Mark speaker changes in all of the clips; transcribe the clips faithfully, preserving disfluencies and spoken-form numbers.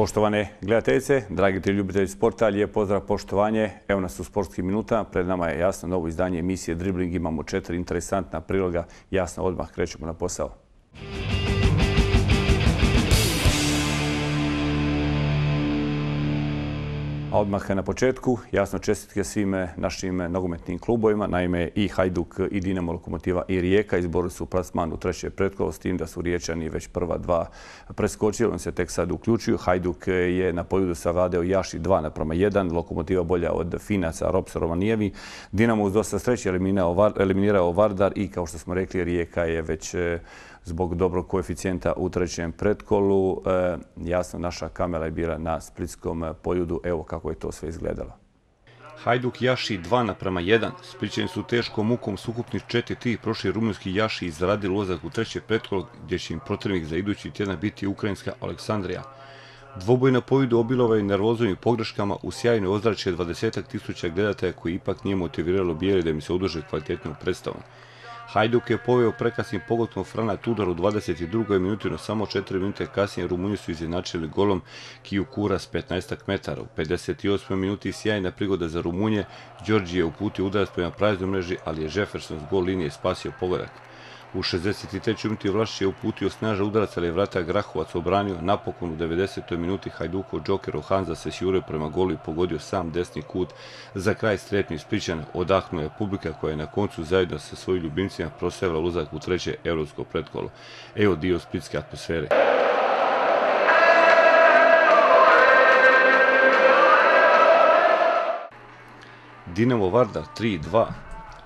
Speaker 1: Poštovane gledateljice, dragi ti ljubitelji sporta, lijep pozdrav, poštovanje. Evo nas u sportskim minutama. Pred nama je jasno novo izdanje emisije Dribling. Imamo četiri interesantna priloga. Jasno, odmah krećemo na posao. A odmah na početku, jasno čestitke svim našim nogometnim klubovima. Naime, i Hajduk, i Dinamo, Lokomotiva, i Rijeka izborili su plasman u treće pretkolo, s tim da su Riječani već prva dva preskočili. On se tek sad uključuju. Hajduk je na Poljudu savladao Jaši dva naprama jedan. Lokomotiva bolja od Finaca, Rops, Rovanijevi. Dinamo uz dosta sreće eliminirao Vardar i, kao što smo rekli, Rijeka je već zbog dobrog koeficijenta u trećem pretkolu. E, jasno, naša kamera je bila na Splitskom Poljudu. Evo kako je to sve izgledalo.
Speaker 2: Hajduk Jaši dva naprama jedan. Splićani su teškom mukom s ukupnih četiri tri prošli rumunjski Jaši izradili ulazak u treće pretkolo, gdje će im protivnik za idući tjedan biti ukrajinska Aleksandrija. Dvoboj na Poljudu obilovao nervozom i pogreškama u sjajnoj ozračje dvadesetak tisuća gledatelja koji ipak nije motiviralo bijeli da im se oduže kvalitetnu predstavu. Hajduk je poveo prekasnim pogotom Frana Tudor u dvadeset drugoj minuti, no samo četiri minute kasnije Rumunji su izjednačili golom Kiju Kura s petnaestak metara. U pedeset osmoj minuti sjajna prigoda za Rumunje, Đorđi je uputio udarac prema praznoj mreži, ali je Jefferson s gol linije spasio pogodak. U šezdeset trećoj minuti Vlašić je uputio snažan udarac, ali je vrata Grahovac obranio. Napokon u devedesetoj minuti Hajdukov džoker Hanza se sjurio prema golu i pogodio sam desni kut. Za kraj strepni Splićan odahnula je publika koja je na koncu zajedno sa svojim ljubimcima proslavila ulazak u treće europsko pretkolo. Evo dio splitske atmosfere. Dinamo Vardar tri dva.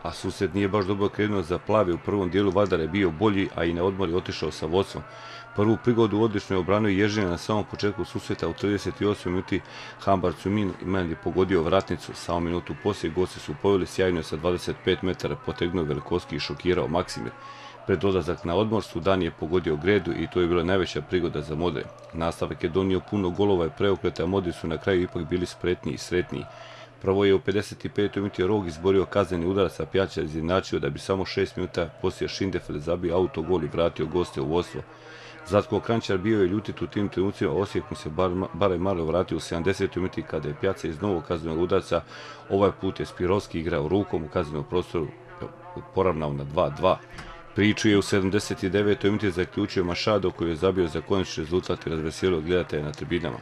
Speaker 2: A susret nije baš dobro krenuo za plave. U prvom dijelu Vardar je bio bolji, a i na odmor je otišao sa vodstvom. Prvu prigodu odlično je obranio Ježina na samom početku susreta. U trideset osmoj minuti Hambar Cumin je pogodio vratnicu. Samo minutu poslije gosti su poveli sjajno sa dvadeset pet metara, potegnuo Velikovski i šokirao Maksimir. Pred odlazak na odmor Sudan je pogodio Gredu i to je bila najveća prigoda za Modre. Nastavak je donio puno golova i preokreta, a Modri su na kraju ipak bili spretniji i sretniji. Prvo je u pedeset petoj minuti Rog izborio kazneni udarac, a Pjačar izjednačio da bi samo šest minuta poslije Šindefeld zabio autogol i vratio goste u vodstvo. Zlatko Kranjčar bio je ljutit u tim trenucima, Osijek mu se bar, barem malo vratio u sedamdesetoj minuti kada je Pjačar iz novog kaznenog udarca, ovaj put je Spirovski igrao rukom u kaznenom prostoru, poravnao na dva dva. Priču je u sedamdeset devetoj minuti zaključio Mašado, koji je zabio za konačni rezultat i razveselio gledatelja na tribinama.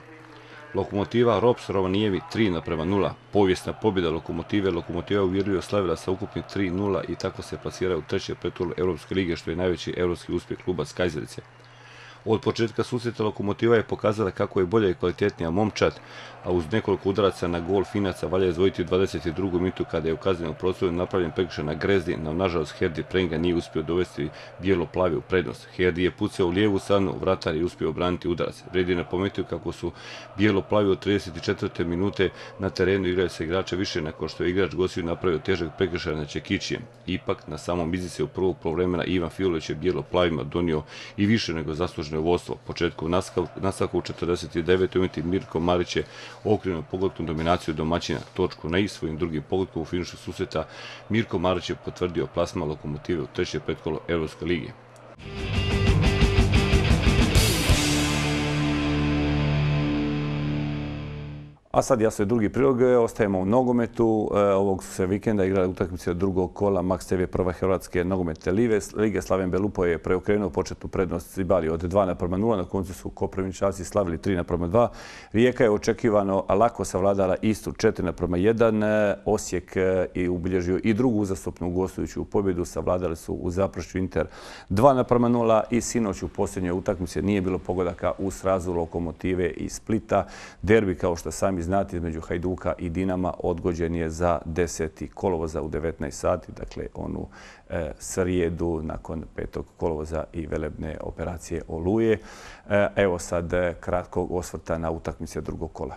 Speaker 2: Lokomotiva Rops Rovanijevi tri naprema nula. Povijesna pobjeda Lokomotive. Lokomotiva uvjerljivo slavila sa ukupnih tri nula i tako se plasira u treće pretkolo Europske lige, što je najveći europski uspjeh kluba Skajzerice. Od početka susreta Lokomotiva je pokazala kako je bolja i kvalitetnija momčad, a uz nekoliko udaraca na gol Finaca valja izdvojiti u dvadeset drugoj minutu kada je u kaznenom prostoru napravljen prekršaj na Grezdi, no nažalost Herdi Prenga nije uspio dovesti bijelo-plavi u prednost. Herdi je pucao u lijevu stranu, vratar je uspio obraniti udarac. Vredi napomenuti kako su bijelo-plavi od trideset četvrte minute na terenu igraju se igrača više nakon što je igrač gostiju napravio težak prekršaj na Čekićijem. Ipak, na samom izdice u prvog poluvremena Ivan Filović je bijelo-plavima donio i više nego zasluženo vodstvo. Početku nastavka u četrdeset devetoj minuti Mirko Marić je okrenuo pogodkom dominaciju domaćina. Točku na i svojim drugim pogodkom u finišu susreta Mirko Marić je potvrdio plasman Lokomotive u treće pretkolo Europske lige.
Speaker 1: A sad jasno je drugi prilog, ostajemo u nogometu. Ovog su se vikenda igrali utakmice od drugog kola Max te ve prva Hrvatske nogometne lige. Slaven Belupo je preokrenuo početnu prednost Cibali od dva naprema nula. Na koncu su Koprivničanci slavili tri naprema dva. Rijeka je očekivano lako savladala Istru četiri naprema jedan. Osijek je ubilježio i drugu uzastopnu gostujuću pobjedu. Savladali su u Zaprešiću Inter dva naprema nula i sinoć u posljednjoj utakmici nije bilo pogodaka u srazu Lokomotive i Splita. Derbi, kao što sami znati, između Hajduka i Dinama odgođen je za deseti kolovoza u devetnaest sati, dakle onu e, srijedu nakon petog kolovoza i velebne operacije Oluje. E, evo sad e, kratkog osvrta na utakmice drugog kola.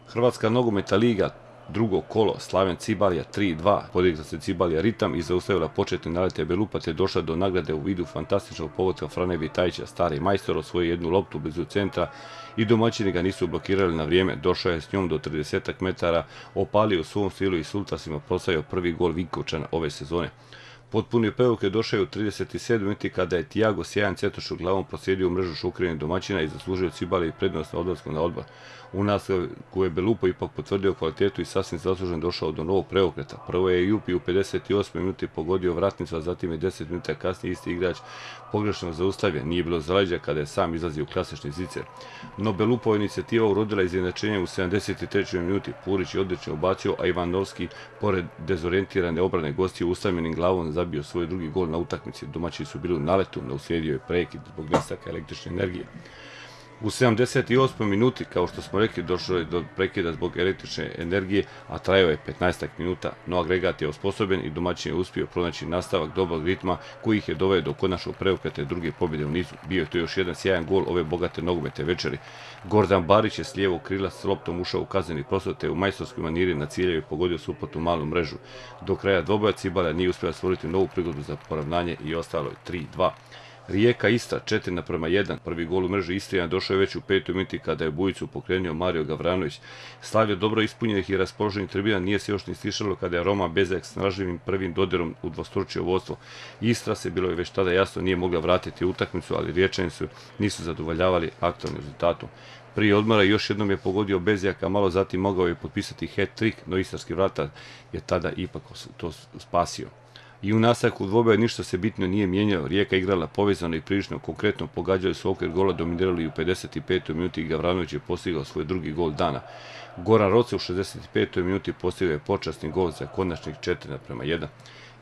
Speaker 2: Hrvatska nogometna liga, drugo kolo, Slaven Cibalija tri dva. Podigla se Cibalija ritam i zaustavila početne nalete Belupa te došla do nagrade u vidu fantastičnog pogotka Frane Vitajića. Stari majstor osvojio jednu loptu blizu centra i domaćini ga nisu blokirali na vrijeme. Došao je s njom do trideset metara, opalio u svom stilu i Sultasima proslavio prvi gol Vinkovčana ove sezone. Potpuni preokret došao je u trideset sedmoj minuti kada je Thiago sjajan cetošom glavom proslijedio u mrežu Šukrine domaćina i zaslužio Cibali prednost na odlasku na odbor. U nastavku je Belupo ipak potvrdio kvalitetu i sasvim zaslužen došao do novog preokreta. Prvo je Jupi u pedeset osmoj minuti pogodio vratnicu, a zatim je deset minuta kasnije isti igrač pogrešno zaustavljen. Nije bilo zaleđa kada je sam izlazio u klasični zicer. No Belupova inicijativa urodila izjednačenje u sedamdeset trećoj minuti. Purić je odlično ubacio, a Ivanovski, pored dezorijentirane obrane gostiju, ustavljenim glavom zabio svoj drugi gol na utakmici. Domaći su bili u naletu, no uslijedio je prekid zbog nestaka električne energije. U sedamdeset osmoj minuti, kao što smo rekli, došlo je do prekida zbog električne energije, a trajao je petnaest minuta, no agregat je osposobljen i domaćin je uspio pronaći nastavak dobrog ritma koji ih je doveo do konačnog preokreta i druge pobjede u nizu. Bio je to još jedan sjajan gol ove bogate nogometne večeri. Gordan Barić je s lijevog krila s loptom ušao u kazneni prostor te u majstorskoj maniri na ciljeve pogodio suprotnu malu mrežu. Do kraja dvoboja Cibala nije uspjela stvoriti novu prigodu za poravnanje i ostalo je tri dva. Rijeka Istra četiri naprema jedan. Prvi gol u mrežu Istrijana došao je već u petoj minuti kada je Bujicu pokrenuo Mario Gavranović. Slavio dobro ispunjenih i raspoloženih tribina nije se još ni stišalo kada je Roma Bezek s naživim prvim dodirom udvostručio vodstvo. Istra se, bilo je već tada jasno, nije mogla vratiti utakmicu, ali Riječani su nisu zadovoljavali aktualnim rezultatom. Prije odmora još jednom je pogodio Bezjak, a malo zatim mogao je potpisati hat-trick, no istarski vratar je tada ipak to spasio. I u nastavku dvoboja ništa se bitno nije mijenjalo. Rijeka igrala povezano i prilično konkretno, pogađali su okvir gola, dominirali i u pedeset petoj minuti i Gavranović je postigao svoj drugi gol dana. Goran Roce u šezdeset petoj minuti postigao je počasni gol za konačnih četiri naprema jedan.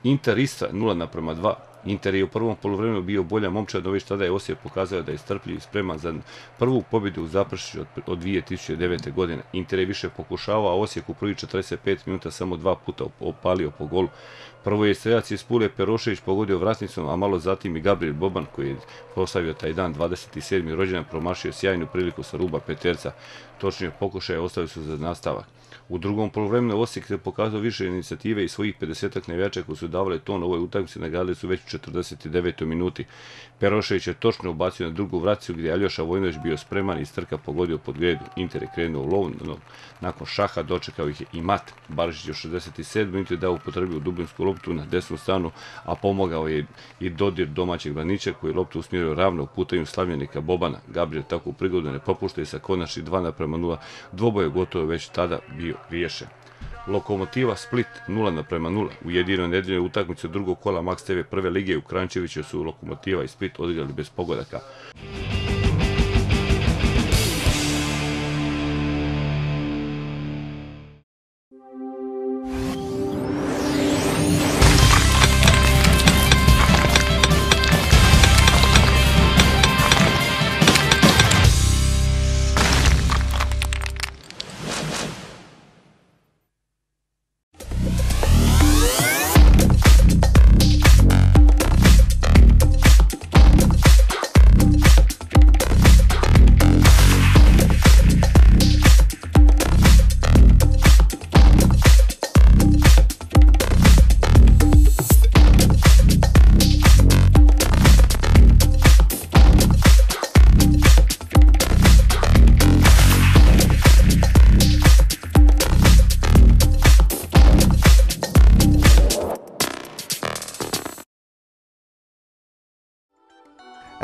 Speaker 2: Inter Istra nula naprema dva. Inter je u prvom poluvremenu bio bolja momčad, no već tada je Osijek pokazao da je strpljiv i spreman za prvu pobjedu u Zaprešiću od dvije tisuće devete. godine. Inter je više pokušavao, a Osijek u prvih četrdeset pet minuta samo dva puta opalio po golu. Prvo je strelac iz Pule Perošević pogodio vratnicom, a malo zatim i Gabriel Boban, koji je proslavio taj dan dvadeset sedmi rođendan, promašio sjajnu priliku sa ruba peterca. Točnije pokušaje ostavili su za nastavak. U drugom poluvremenu Osijek se pokazao više inicijative i svojih pedesetak navijača koji su davali ton ovoj utakmici nagradili su već u četrdeset devetoj minuti. Perošević je točno ubacio na drugu vraticu gdje je Aljoša Vojnović bio spreman i strka pogodio pod gredu. Inter je krenuo u lov, no nakon šaha dočekao ih je i mat. Barišić je u šezdeset sedmoj minuti dao upotrebio dubinsku loptu na desnu stranu, a pomogao je i dodir domaćeg braniča koji je loptu usmjerio ravno u putanju slavljenika Bobana. Gabriel takvu prigodu ne propušta i sa konačnih dva naprema nula dvoboje gotovo već tada bio riješen. Lokomotiva Split nula naprema nula. U jedinoj nedeljnoj utakmici drugog kola Max te ve prve lige u Kranjčeviću su Lokomotiva i Split odigrali bez pogodaka.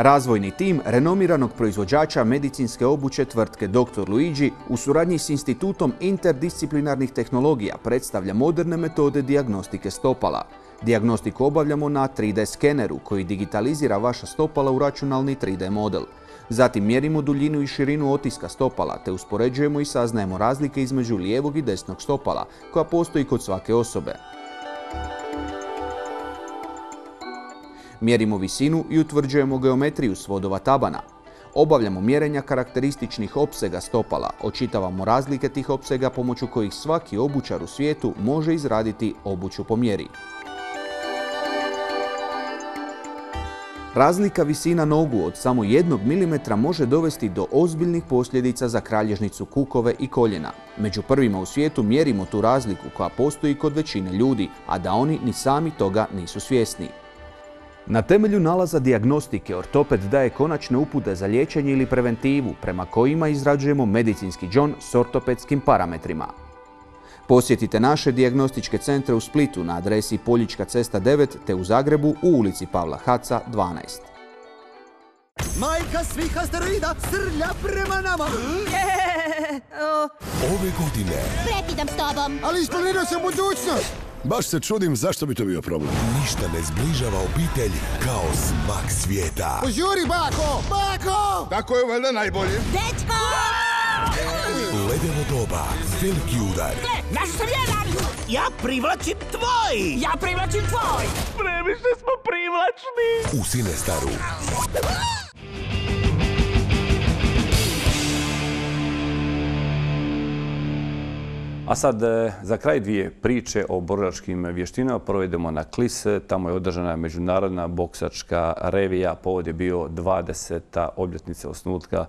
Speaker 3: Razvojni tim renomiranog proizvođača medicinske obuće tvrtke doktor Luigi u suradnji s Institutom interdisciplinarnih tehnologija predstavlja moderne metode dijagnostike stopala. Dijagnostiku obavljamo na tri de skeneru koji digitalizira vaša stopala u računalni tri de model. Zatim mjerimo duljinu i širinu otiska stopala te uspoređujemo i saznajemo razlike između lijevog i desnog stopala koja postoji kod svake osobe. Mjerimo visinu i utvrđujemo geometriju svodova tabana. Obavljamo mjerenja karakterističnih opsega stopala, očitavamo razlike tih opsega pomoću kojih svaki obućar u svijetu može izraditi obuću po mjeri. Razlika visina nogu od samo jednog milimetra može dovesti do ozbiljnih posljedica za kralježnicu kukove i koljena. Među prvima u svijetu mjerimo tu razliku koja postoji kod većine ljudi, a da oni ni sami toga nisu svjesni. Na temelju nalaza dijagnostike ortoped daje konačne upute za liječenje ili preventivu prema kojima izrađujemo medicinski džon s ortopedskim parametrima. Posjetite naše dijagnostičke centre u Splitu na adresi Poljička cesta devet te u Zagrebu u ulici Pavla Haca dvanaest.
Speaker 4: Majka svih asteroida srlja prema nama.
Speaker 5: Ove godine
Speaker 6: Prekidam s tobom.
Speaker 4: Ali isplanirao sam budućnost.
Speaker 5: baš se čudim zašto bi to bio problem. Ništa ne zbližava obitelj kao smak svijeta.
Speaker 4: Požuri, bako! Bako!
Speaker 5: Tako je valjda najbolje.
Speaker 6: Dečko!
Speaker 5: Ledevo doba, veliki udar.
Speaker 7: Naš sam jedan! Ja privlačim tvoj! Ja privlačim tvoj! Previše smo privlačni!
Speaker 5: U Cinestaru.
Speaker 1: A sad za kraj dvije priče o borilačkim vještinama provedemo na Klis. Tamo je održana međunarodna boksačka revija. Povod je bio dvadeseta obljetnica osnutka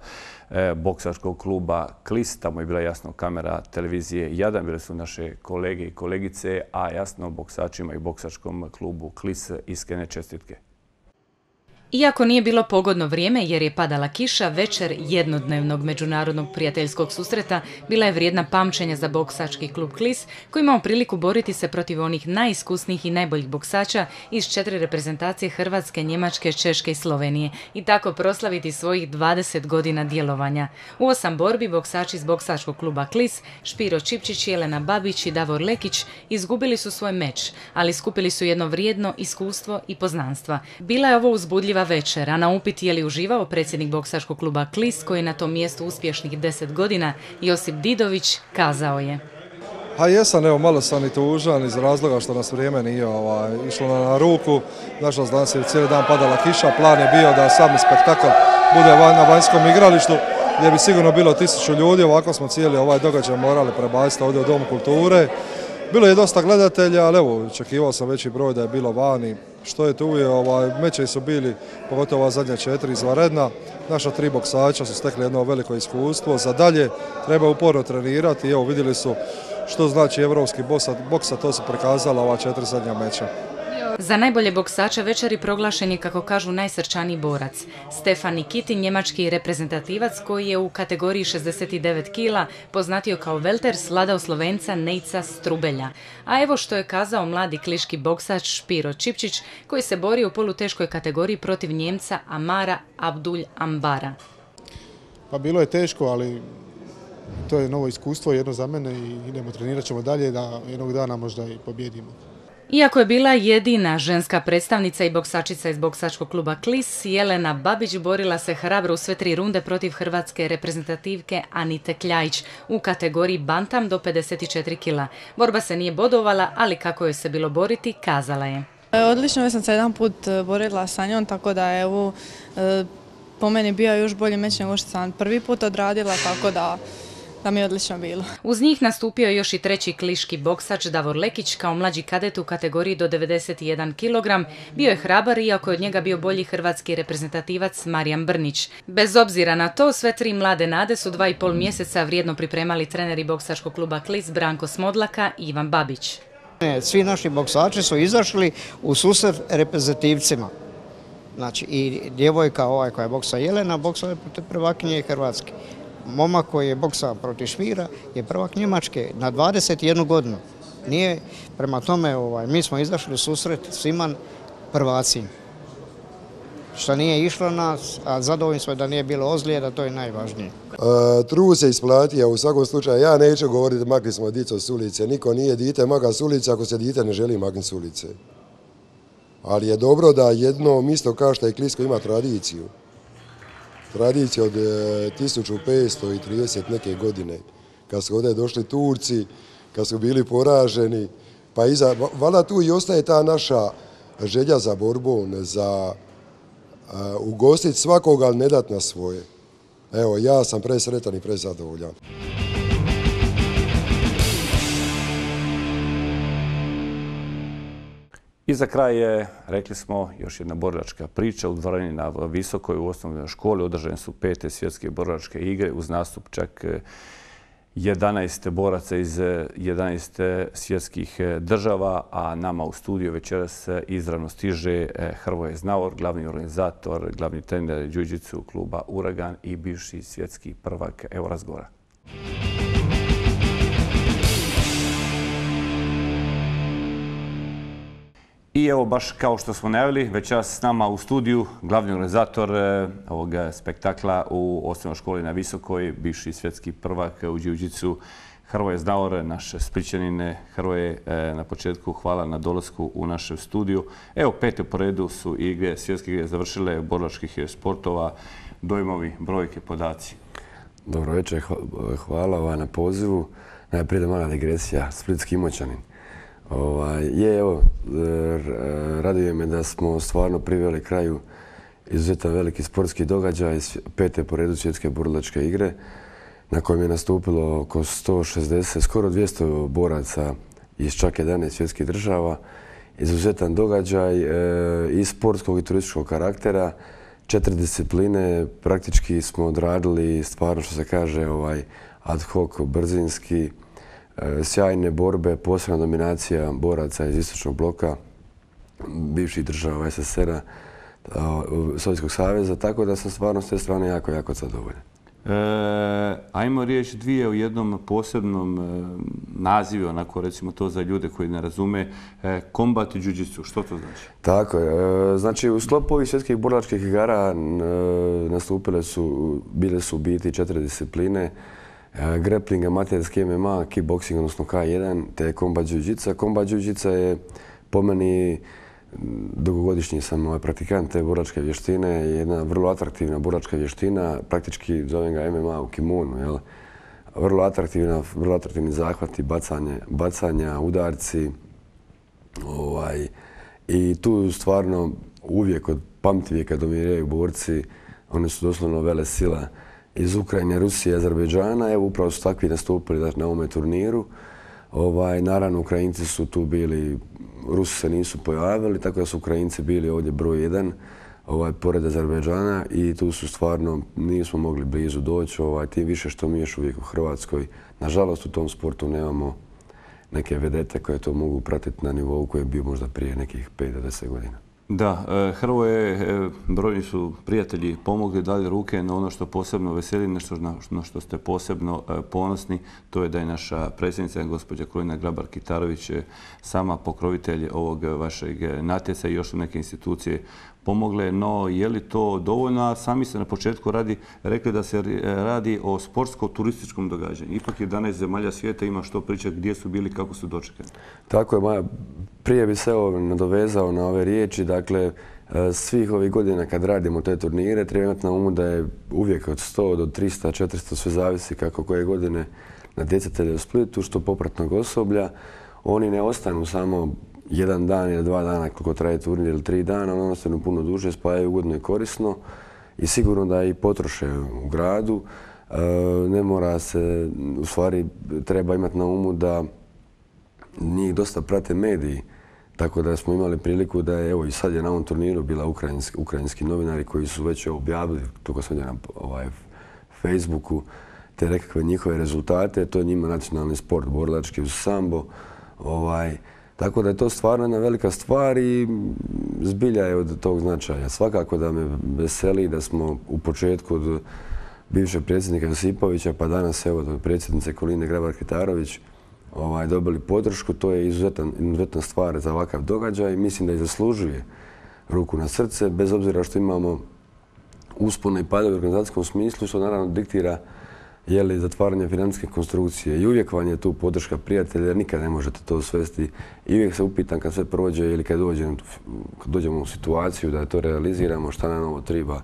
Speaker 1: boksačkog kluba Klis. Tamo je bila jasno kamera televizije Jadan. Bile su naše kolege i kolegice, a jasno boksačima i boksačkom klubu Klis iskrene čestitke.
Speaker 8: Iako nije bilo pogodno vrijeme jer je padala kiša, večer jednodnevnog međunarodnog prijateljskog susreta bila je vrijedna pamćenja za boksački klub Klis, koji imao priliku boriti se protiv onih najiskusnijih i najboljih boksača iz četiri reprezentacije Hrvatske, Njemačke, Češke i Slovenije i tako proslaviti svojih dvadeset godina djelovanja. U osam borbi boksači iz boksačkog kluba Klis, Špiro Čipčić, Jelena Babić i Davor Lekić izgubili su svoj meč, ali skupili su jedno vrijedno iskustvo i poznanstva. Bila je ovo uzbudljiva večer, a na upit je li uživao predsjednik boksačkog kluba Klis, koji je na tom mjestu uspješnih deset godina, Josip Didović, kazao je.
Speaker 9: A jesam, evo, malo sam i tužan iz razloga što nas vrijeme nije ovaj, išlo na, na ruku. Nažalost, danas je cijeli dan padala kiša, plan je bio da sami spektakl bude van, na vanjskom igralištu, gdje bi sigurno bilo tisuću ljudi, ovako smo cijeli ovaj događaj morali prebaciti ovdje u Dom kulture. Bilo je dosta gledatelja, ali evo, očekivao sam veći broj da je bilo vani. Što je tu je, ovaj, meče su bili, pogotovo ova zadnja četiri izvanredna. Naša tri boksača su stekli jedno veliko iskustvo. Za dalje treba uporno trenirati. Evo, vidjeli su što znači evropski boks, a to su prikazala ova četiri zadnja meča.
Speaker 8: Za najbolje boksača večeri proglašen je, kako kažu, najsrčaniji borac. Stefan Nikitin, njemački reprezentativac koji je u kategoriji šezdeset devet kila poznatio kao welter, sladao Slovenca Nejca Strubelja. A evo što je kazao mladi kliški boksač Špiro Čipčić, koji se borio u poluteškoj kategoriji protiv Njemca Amara Abdul Ambara.
Speaker 10: Pa bilo je teško, ali to je novo iskustvo, jedno za mene i idemo, trenirat ćemo dalje da jednog dana možda i pobjedimo.
Speaker 8: Iako je bila jedina ženska predstavnica i boksačica iz boksačkog kluba Klis, Jelena Babić borila se hrabro u sve tri runde protiv hrvatske reprezentativke Anite Kljajić u kategoriji bantam do pedeset četiri kila. Borba se nije bodovala, ali kako joj se bilo boriti, kazala je.
Speaker 11: Odlično, već sam se jedan put borila sa njom, tako da je evo, po meni bio još bolji meč nego što sam prvi put odradila, tako da da mi je odlično bilo.
Speaker 8: Uz njih nastupio je još i treći kliški boksač Davor Lekić kao mlađi kadet u kategoriji do devedeset jedan kilogram. Bio je hrabar, iako je od njega bio bolji hrvatski reprezentativac Marijan Brnić. Bez obzira na to, sve tri mlade nade su dva i pol mjeseca vrijedno pripremali treneri boksačkog kluba Klis Branko Smodlaka i Ivan Babić.
Speaker 12: Svi naši boksači su izašli u susret reprezentativcima. Znači i djevojka ovaj koja je boksa Jelena, boksa je protiv prvakinje Hrvatske. Momak koji je boksao protiv Špira je prvak Njemačke na dvadeset jednu godinu. Nije, prema tome, ovaj, mi smo izašli u susret svima prvaci. Što nije išlo nas, a zadovoljni smo da nije bilo ozljeda, to je najvažnije.
Speaker 13: E, trud se isplati, a u svakom slučaju ja neću govoriti makli smo djecu s ulice. Niko nije dite maka s ulice ako se dite ne želi maknuti s ulice. Ali je dobro da jedno mjesto kao što je Klisko ima tradiciju. Tradicija od tisuću petsto trideset neke godine, kad su ovdje došli Turci, kad su bili poraženi, pa iza, valjda tu i ostaje ta naša želja za borbom, za uh, ugostiti svakoga, ali ne dati na svoje. Evo, ja sam presretan i prezadovoljan.
Speaker 1: I za kraj je, rekli smo, još jedna borilačka priča u dvorani na Visokoj u osnovnoj školi. Održane su pete svjetske borilačke igre uz nastup čak jedanaest boraca iz jedanaest svjetskih država, a nama u studiju večeras izravno stiže Hrvoje Znavor, glavni organizator, glavni trener džiu-džitsu kluba Uragan i bivši svjetski prvak. Evo razgovora. I evo, baš kao što smo najavili, večeras s nama u studiju glavni organizator ovog spektakla u osnovnoj školi na Visokoj, bivši svjetski prvak u džiu-džitsu, Hrvoje Znaor, naš Splićanin. Hrvoje, na početku hvala na dolasku u našem studiju. Evo, pete po redu su igre, svjetske igre završile, borilačkih sportova, dojmovi, brojke, podaci.
Speaker 6: Dobro večer, hvala na pozivu. Najprije da mala digresija, Splitski Imoćanin. Je, evo, raduje me da smo stvarno priveli kraju izuzetan veliki sportski događaj, pete po redu svjetske borilačke igre, na kojem je nastupilo oko sto šezdeset, skoro dvjesto boraca iz čak jedanaest svjetskih država. Izuzetan događaj i sportskog i turističkog karaktera. Četiri discipline praktički smo odradili, stvarno što se kaže, ad hoc, brzinski, sjajne borbe, posebna dominacija boraca iz istočnog bloka, bivših država es es er a, Sovjetskog saveza, tako da sam stvarno s te strane jako, jako zadovoljan.
Speaker 1: Ajmo riječ dvije u jednom posebnom nazivu, onako recimo to za ljude koji ne razume, kombat i džiu-džitsu. Što to znači?
Speaker 6: Tako je. Znači, u sklopu ovih svjetskih borilačkih igara nastupile su, bile su u biti četiri discipline. Grappling, amaterski em em a, kickboxing, odnosno ka jedan, te kombat džiu-džitsa. Kombat džiu-džitsa je po meni, dugogodišnji sam praktikant te borilačke vještine, jedna vrlo atraktivna borilačka vještina, praktički zovem ga em em a u kimonu. Vrlo atraktivna, vrlo atraktivni zahvati, bacanja, udarci. I tu stvarno uvijek od pamtivijeka dominiraju borci, oni su doslovno vele sila iz Ukrajine, Rusije, Azerbejdžana. Evo, upravo su takvi nastupili na ovome turniru. Naravno, Ukrajinci su tu bili, Rusi se nisu pojavili, tako da su Ukrajinci bili ovdje broj jedan, pored Azerbejdžana, i tu su stvarno, nismo mogli blizu doći, tim više što mi još uvijek u Hrvatskoj. Nažalost, u tom sportu nemamo neke vedete koje to mogu pratiti na nivou koji je bio možda prije nekih pet do deset godina.
Speaker 1: Da, Hrvoje, brojni su prijatelji pomogli, dali ruke, na ono što posebno veseli, nešto na što ste posebno ponosni, to je da je naša predsjednica, gospođa Kolina Grabar-Kitarović, sama pokrovitelj ovog vašeg natjeca i još neke institucije pomogle. No, je li to dovoljno? A sami ste na početku rekli da se radi o sportsko-turističkom događanju. Ipak jedanaest zemalja svijeta ima što pričati, gdje su bili, kako su dočekani.
Speaker 6: Tako je, Maja. Prije bi se nadovezao na ove riječi. Dakle, svih ovih godina kad radimo te turnire, treba imati na umu da je uvijek od sto do trista, četiristo, sve zavisi kako koje godine natjecatelja u Splitu, što popratnog osoblja. Oni ne ostanu samo jedan dan ili dva dana koliko traje turnir ili tri dana, ono ostanu puno duže, spajaju ugodno i korisno i sigurno da i potroše u gradu. Ne mora se, u stvari treba imati na umu da njih dosta prate mediji, tako da smo imali priliku da je, evo i sad je na ovom turniru bila ukrajinski, ukrajinski novinari koji su već objavili, toga sam na ovaj, Facebooku, te nekakve njihove rezultate. To je njima nacionalni sport, borilački uz sambo. Ovaj, Tako da je to stvarno jedna velika stvar i zbilja je od tog značaja. Svakako da me veseli da smo u početku od bivšeg predsjednika Josipovića pa danas evo od predsjednice Koline Grabar-Kitarović ovaj, dobili podršku. To je izuzetan, izuzetna stvar za ovakav događaj. Mislim da i zaslužuje ruku na srce, bez obzira što imamo uspone i padove u organizacijskom smislu, što naravno diktira je li zatvaranje financijske konstrukcije i uvijek vam je tu podrška prijatelja jer nikad ne možete to svesti i uvijek se upitam kad sve prođe ili kad dođemo, kad dođemo u situaciju da to realiziramo šta nam ovo treba,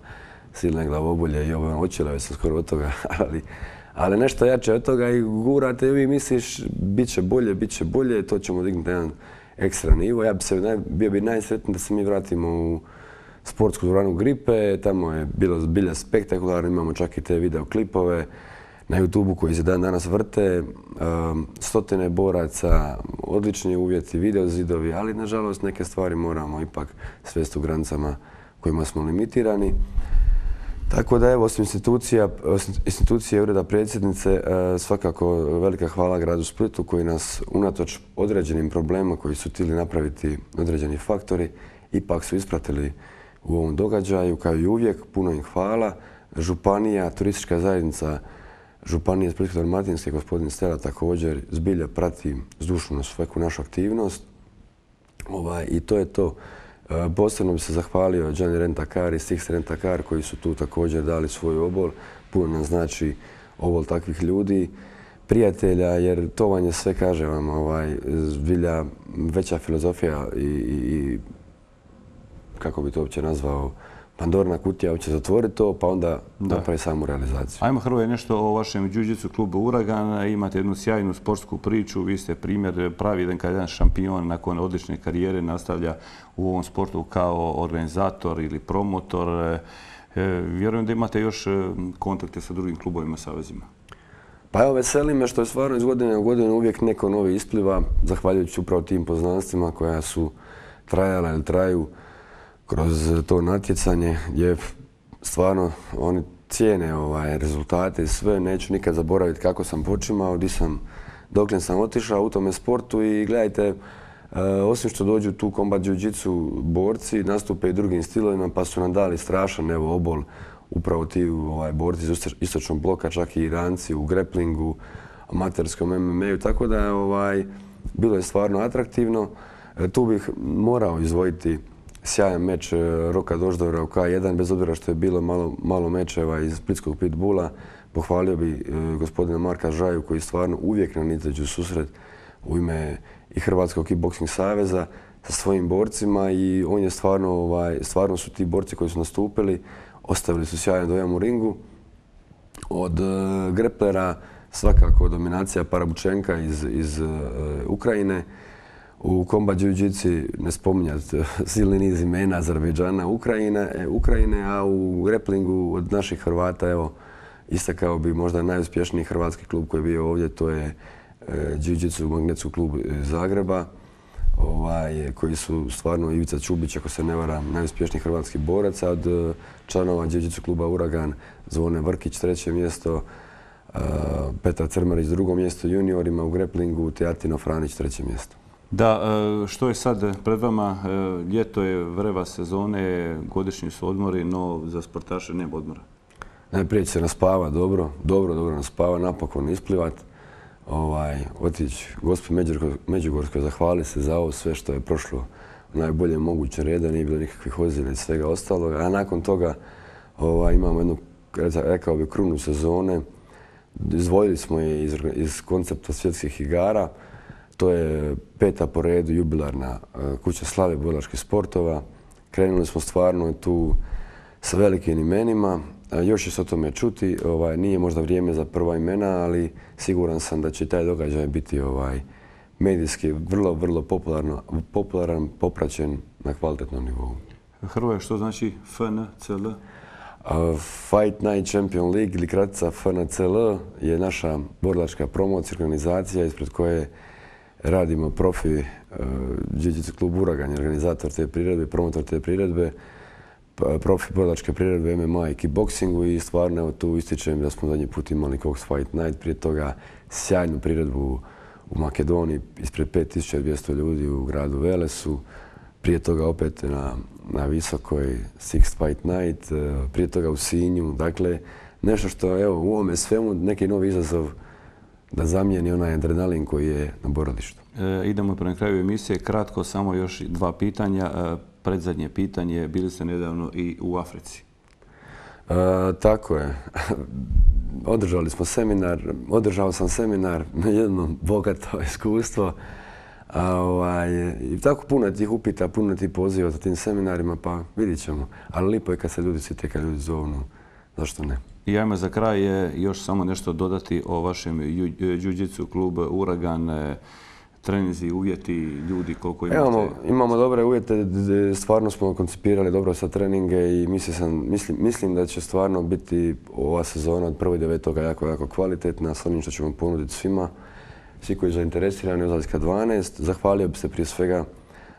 Speaker 6: silne glavobolje i ovo očelave sam skoro od toga, ali, ali nešto jače od toga i gurate i vi misliš bit će bolje, bit će bolje, to ćemo dignuti jedan ekstra nivo. Ja bi se bio bi najsretniji da se mi vratimo u sportsku dvoranu Gripe, tamo je bilo zbilja spektakularno, imamo čak i te videoklipove na YouTubeu koji se dan danas vrte, stotine boraca, odlični uvjeti, videozidovi, ali nažalost neke stvari moramo ipak svesti u granicama kojima smo limitirani. Tako da evo, osim institucija, institucije Ureda predsjednice, svakako velika hvala gradu Splitu koji nas unatoč određenim problemima koji su htjeli napraviti određeni faktori, ipak su ispratili u ovom događaju, kao i uvijek, puno im hvala. Županija, turistička zajednica Županije Splitsko-dalmatinske, gospodin Stela također zbilja prati zdušno svaku našu aktivnost. Ovaj, I to je to. Posebno bi se zahvalio Gianni Rent-A-Car i Six Rent-A-Car koji su tu također dali svoj obol. Puno nam znači obol takvih ljudi, prijatelja, jer to vam je sve, kaže vam, ovaj, zbilja veća filozofija i, i, i kako bi to uopće nazvao, Pandorina kutija, uopće zatvori to, pa onda napravi samu realizaciju.
Speaker 1: Ajmo, Hrvoje, nešto o vašem jiu-jitsu klubu Uragan. Imate jednu sjajnu sportsku priču, vi ste primjer, pravi jedan kad jedan šampion nakon odlične karijere nastavlja u ovom sportu kao organizator ili promotor. Vjerujem da imate još kontakte sa drugim klubovima, savezima.
Speaker 6: Pa evo, veseli me što je stvarno iz godine u godinu uvijek neko novi ispliva, zahvaljujući upravo tim poznanstvima koja su trajala ili traju kroz to natjecanje, gdje stvarno oni cijene ovaj, rezultate i sve. Neću nikad zaboraviti kako sam počimao, di sam, dokle sam otišao u tome sportu i gledajte, e, osim što dođu tu kombat jiu-jitsu borci, nastupe i drugim stilovima, pa su nam dali strašan evo, obol upravo ti ovaj, borci iz istočnog bloka, čak i Iranci u greplingu, amaterskom em em a-u, tako da ovaj, bilo je stvarno atraktivno. E, tu bih morao izdvojiti sjajan meč Roka Doždora u ka jedan, bez obzira što je bilo malo, malo mečeva iz splitskog pitbula. Pohvalio bi e, gospodina Marka Žaju koji stvarno uvijek nam izađu susret u ime i Hrvatskog kickboksing saveza sa svojim borcima i on je stvarno, ovaj, stvarno su ti borci koji su nastupili, ostavili su sjajan dojam u ringu. Od e, greplera svakako dominacija Parabučenka iz, iz e, Ukrajine. U kombat jiu-jitsu ne spominjati silni niz imena Azerbejdžana, Ukrajine, Ukrajine, a u greplingu od naših Hrvata, evo, istakao bi možda najuspješniji hrvatski klub koji je bio ovdje, to je e, jiu-jitsu magnetski klub iz Zagreba, ovaj, koji su stvarno Ivica Čubić, ako se ne varam, najuspješniji hrvatski borac, a od e, članova jiu-jitsu kluba Uragan Zvone Vrkić, treće mjesto, e, Petar Crmarić, drugo mjesto juniorima u greplingu, te Artino Franić, treće mjesto.
Speaker 1: Da, što je sad pred vama? Ljeto je, vreva sezone, godišnji su odmori, no za sportaše nema odmora.
Speaker 6: Najprije će se naspava dobro, dobro, dobro naspava, napokon isplivat, ovaj, otići gospi Međugorskoj, zahvali se za ovo sve što je prošlo u najboljem mogućem reda, nije bilo nikakvih ozljeda i svega ostalog, a nakon toga ovaj, imamo jednu, rekao bi, krunu sezone. Izdvojili smo je iz, iz koncepta svjetskih igara. To je peta po redu jubilarna kuća slave borilačkih sportova. Krenuli smo stvarno tu sa velikim imenima. Još će se o tome čuti. Ovaj, nije možda vrijeme za prva imena, ali siguran sam da će taj događaj biti ovaj, medijski vrlo, vrlo popularno, popularan, popraćen na kvalitetnom nivou.
Speaker 1: Hrvoje, što znači F N C L?
Speaker 6: Uh, Fight Night Champion League ili kratica F N C L je naša borilačka promocija, organizacija ispred koje radimo profi uh, jiu-jitsu klub Uragan, organizator te priredbe, promotor te priredbe, profi borilačke priredbe em em a i kickboksingu i stvarno evo, tu ističem da smo zadnji put imali Cox Fight Night, prije toga sjajnu priredbu u Makedoniji ispred pet tisuća dvjesto ljudi u gradu Velesu, prije toga opet na, na Visokoj Six Fight Night, uh, prije toga u Sinju, dakle nešto što evo, u ovome svemu neki novi izazov da zamijeni onaj adrenalin koji je na borilištu.
Speaker 1: E, idemo prema kraju emisije. Kratko, samo još dva pitanja. E, predzadnje pitanje, bili ste nedavno i u Africi.
Speaker 6: E, tako je. Održali smo seminar, održao sam seminar, jedno bogato iskustvo. A, ovaj, i tako puno tih upita, puno tih poziva za tim seminarima, pa vidit ćemo. Ali lipo je kad se ljudi sjete, kad ljudi zovnu, zašto ne?
Speaker 1: I ajmo za kraj je još samo nešto dodati o vašem jiu-jitsu klub Uragan, treninzi, uvjeti, ljudi, koliko imate?
Speaker 6: Imamo, imamo dobre uvjete, stvarno smo koncipirali dobro sa treninge i mislim, mislim, mislim da će stvarno biti ova sezona od prvog devetog jako, jako kvalitetna s onim što ćemo ponuditi svima. Svi koji su zainteresirani od Zlatska dvanaest. Zahvalio bi se prije svega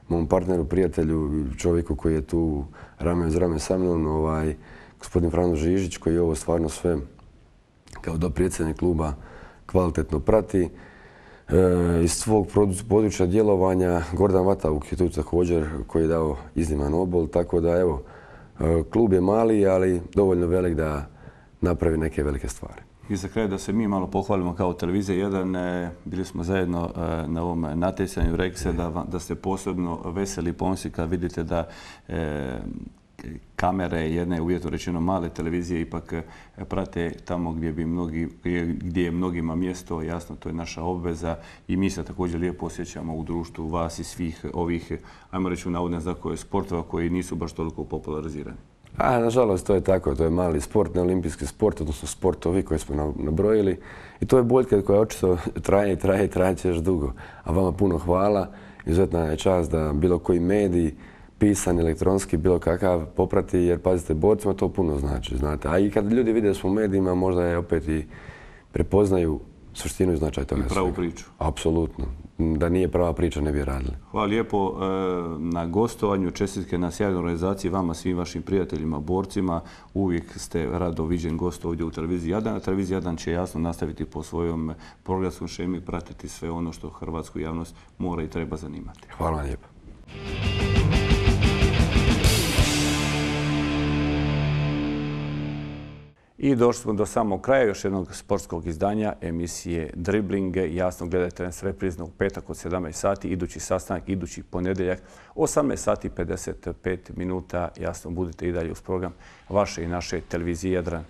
Speaker 6: mom partneru, prijatelju, čovjeku koji je tu rame uz rame sa mnom, ovaj, gospodin Frano Žižić, koji je ovo stvarno sve kao dopredsjednik kluba kvalitetno prati. E, iz svog područja djelovanja Gordan Vatavuk je tu također koji je dao izniman obol, tako da evo, klub je mali, ali dovoljno velik da napravi neke velike stvari.
Speaker 1: I za kraj da se mi malo pohvalimo kao televizija jedan, bili smo zajedno na ovom natjecanju, rekli se da, da ste posebno veseli i ponosni kad vidite da e, kamere jedne uvjetno rečeno male televizije ipak prate tamo gdje bi mnogi, gdje je mnogima mjesto, jasno to je naša obveza i mi se također lijepo osjećamo u društvu vas i svih ovih, ajmo reći u navodne znakove sportova koji nisu baš toliko popularizirani.
Speaker 6: A, nažalost, to je tako. To je mali sport, ne olimpijski sport, odnosno sportovi koje smo nabrojili. I to je boljka koja očito traje i traje i traje će još dugo. A vama puno hvala. Izuzetna je čast da bilo koji medij, pisan, elektronski, bilo kakav poprati, jer pazite, borcima to puno znači, znate. A i kad ljudi vide da smo u medijima, možda je opet i prepoznaju suštinu i značaj toga.
Speaker 1: I pravu priču.
Speaker 6: Apsolutno. Da nije prava priča, ne bi radili.
Speaker 1: Hvala lijepo na gostovanju, čestitke na sjajnoj organizaciji vama, svim vašim prijateljima, borcima. Uvijek ste rado viđen gost ovdje u televiziji Jadran. Televizija Jadran će jasno nastaviti po svojom programskom šemi, pratiti sve ono što hrvatsku javnost mora i treba zanimati.
Speaker 6: Hvala vam lijepo.
Speaker 1: I došli smo do samog kraja još jednog sportskog izdanja emisije Driblinge. Jasno gledajte nas reprizno u petak od sedamnaest sati, idući sastanak, idući ponedjeljak, osamnaest sati pedeset pet minuta. Jasno budite i dalje uz program vaše i naše televizije Jadran.